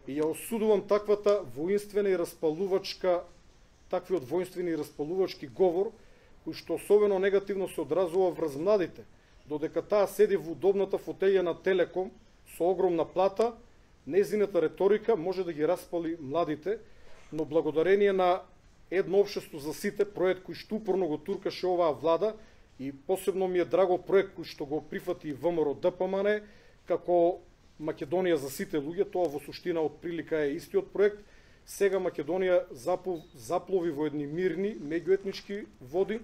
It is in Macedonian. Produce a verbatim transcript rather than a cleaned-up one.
и ја осудувам таквата воинствена и распалувачка, таквиот воинствени и распалувачки говор, кој што особено негативно се одразува врз младите, додека таа седи во удобната фотелја на Телеком со огромна плата, незината реторика може да ги распали младите, но благодарение на едно општество за сите, проект кој што упорно го туркаше оваа влада, и посебно ми е драго проект кој што го прифати и ВМРО Д П М Н, како Македонија за сите луѓе, тоа во суштина од прилика е истиот проект. Сега Македонија заплови во едни мирни меѓуетнички води,